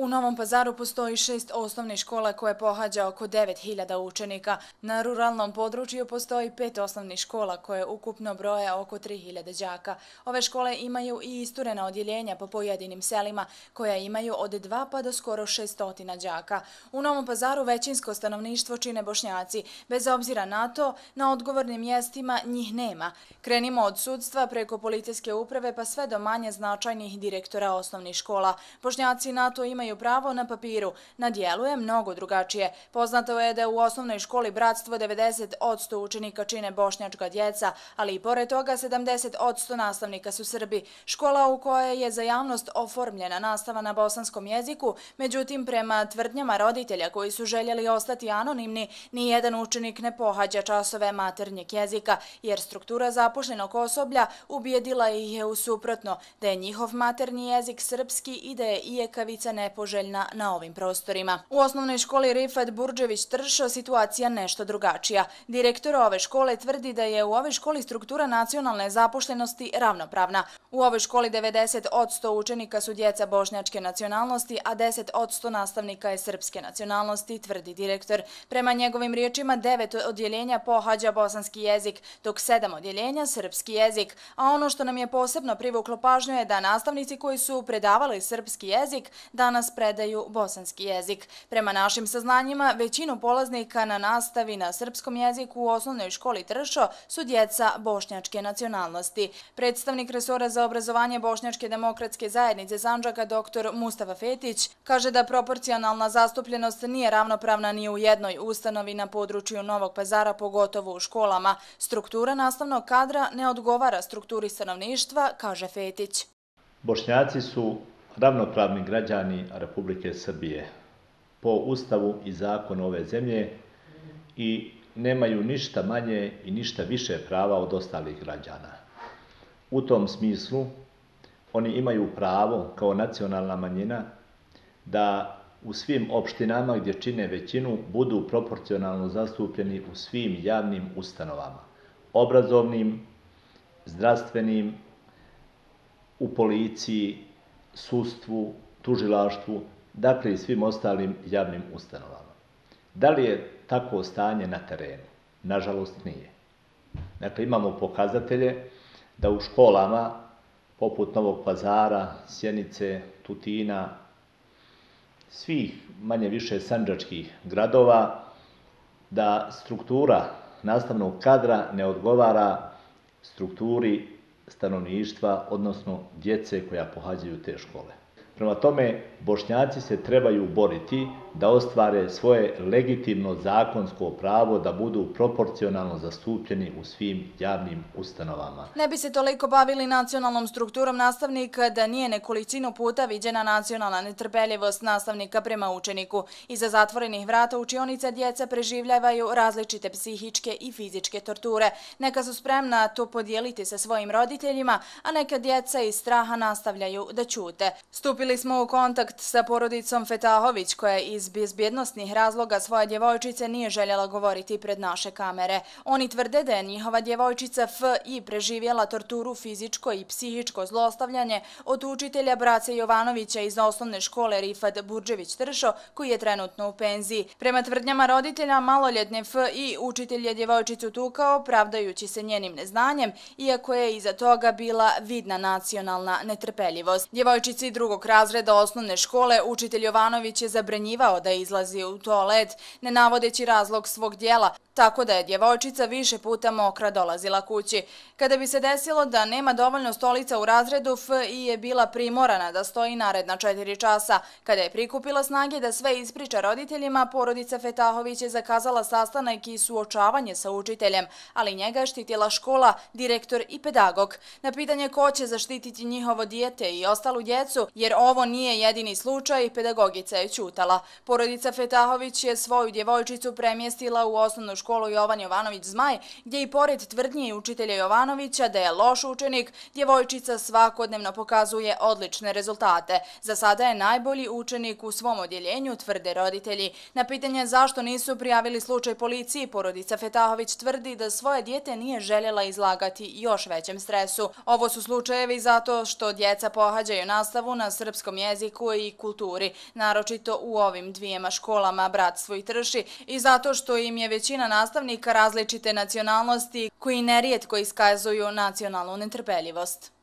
U Novom Pazaru postoji 6 osnovnih škola koje pohađa oko 9.000 učenika. Na ruralnom području postoji 5 osnovnih škola koje ukupno broje oko 3.000 đaka. Ove škole imaju i isturena odjeljenja po pojedinim selima koja imaju od 2 pa do skoro 600 đaka. U Novom Pazaru većinsko stanovništvo čine Bošnjaci. Bez obzira na to, na odgovornim mjestima njih nema. Krenimo od sudstva preko policijske uprave pa sve do manje značajnih direktora osnovnih škola. Bošnjaci na to imaju pravo na papiru, na dijelu je mnogo drugačije. Poznato je da u osnovnoj školi Bratstvo 90% učenika čine bošnjačka djeca, ali i pored toga 70% nastavnika su Srbi. Škola u kojoj je za javnost oformljena nastava na bosanskom jeziku, međutim prema tvrdnjama roditelja koji su željeli ostati anonimni, nijedan učenik ne pohađa časove maternjeg jezika, jer struktura zapošljenog osoblja ubijedila ih je u suprotno, da je njihov maternji jezik srpski i da je ijekavica nepoželjna na ovim prostorima. U osnovnoj školi Rifat Burdžević-Tršo situacija nešto drugačija. Direktor ove škole tvrdi da je u ovoj školi struktura nacionalne zapošljenosti ravnopravna. U ovoj školi 90% učenika su djeca bošnjačke nacionalnosti, a 10% nastavnika je srpske nacionalnosti, tvrdi direktor. Prema njegovim riječima 9 odjeljenja pohađa bosanski jezik, dok 7 odjeljenja srpski jezik. A ono što nam je posebno privuklo pažnju je da nastavnici koji su predavali srpski jezik danas predaju bosanski jezik. Prema našim saznanjima, većinu polaznika na nastavi na srpskom jeziku u osnovnoj školi Tršo su djeca bošnjačke nacionalnosti. Predstavnik resora za obrazovanje Bošnjačke demokratske zajednice Sandžaka dr. Mustafa Fetić kaže da proporcionalna zastupljenost nije ravnopravna ni u jednoj ustanovi na području Novog Pazara, pogotovo u školama. Struktura nastavnog kadra ne odgovara strukturi stanovništva, kaže Fetić. Bošnjaci su ravnopravni građani Republike Srbije po Ustavu i zakonu ove zemlje i nemaju ništa manje i ništa više prava od ostalih građana. U tom smislu oni imaju pravo kao nacionalna manjina da u svim opštinama gdje čine većinu budu proporcionalno zastupljeni u svim javnim ustanovama, obrazovnim, zdravstvenim, u policiji, sudstvu, tužilaštvu, dakle i svim ostalim javnim ustanovama. Da li je takvo stanje na terenu? Nažalost nije. Dakle, imamo pokazatelje da u školama poput Novog Pazara, Sjenice, Tutina, svih manje više sandžačkih gradova, da struktura nastavnog kadra ne odgovara strukturi stanovništva, odnosno djece koja pohađaju te škole. Prema tome, Bošnjaci se trebaju boriti da ostvare svoje legitimno zakonsko pravo da budu proporcionalno zastupljeni u svim javnim ustanovama. Ne bi se toliko bavili nacionalnom strukturom nastavnika da nije nekolicinu puta viđena nacionalna netrpeljivost nastavnika prema učeniku. Iza zatvorenih vrata učionica djeca preživljavaju različite psihičke i fizičke torture. Neka su spremna to podijeliti sa svojim roditeljima, a neka djeca iz straha nastavljaju da ćute. Stupili smo u kontakt sa porodicom Fetahović koja iz bezbjednosnih razloga svoje djevojčice nije željela govoriti pred naše kamere. Oni tvrde da je njihova djevojčica F.I. preživjela torturu fizičko i psihičko zlostavljanje od učitelja Brace Jovanovića iz osnovne škole Rifat Burdžević-Tršo koji je trenutno u penziji. Prema tvrdnjama roditelja, maloljetne F.I. učitelj je djevojčicu tukao pravdajući se njenim neznanjem, iako je iza toga bila vidna nacionalna netrpeljivost. Djevojčici drugog razreda osnovne škole učitelj Jovanović je zabranjivao da izlazi u toalet, ne navodeći razlog svog djela, tako da je djevojčica više puta mokra dolazila kući. Kada bi se desilo da nema dovoljno stolica u razredu, F.I. je bila primorana da stoji naredna 4 časa. Kada je prikupila snage da sve ispriča roditeljima, porodica Fetahović je zakazala sastanak i suočavanje sa učiteljem, ali njega je štitila škola, direktor i pedagog. Na pitanje ko će zaštititi njihovo dijete i ostalu djecu, jer ovo nije jedini slučaj, pedagogica je ćutala. Porodica Fetahović je svoju djevojčicu premjestila u osnovnu školu školu Jovan Jovanović Zmaj, gdje i pored tvrdnje učitelja Jovanovića da je loš učenik, djevojčica svakodnevno pokazuje odlične rezultate. Za sada je najbolji učenik u svom odjeljenju, tvrde roditelji. Na pitanje zašto nisu prijavili slučaj policiji, porodica Fetahović tvrdi da svoje dijete nije željela izlagati još većem stresu. Ovo su slučajevi zato što djeca pohađaju nastavu na srpskom jeziku i kulturi, naročito u ovim dvijema školama Bratstvo i Trši, i zato što im je većina nastavnika različite nacionalnosti koji nerijetko iskazuju nacionalnu netrpeljivost.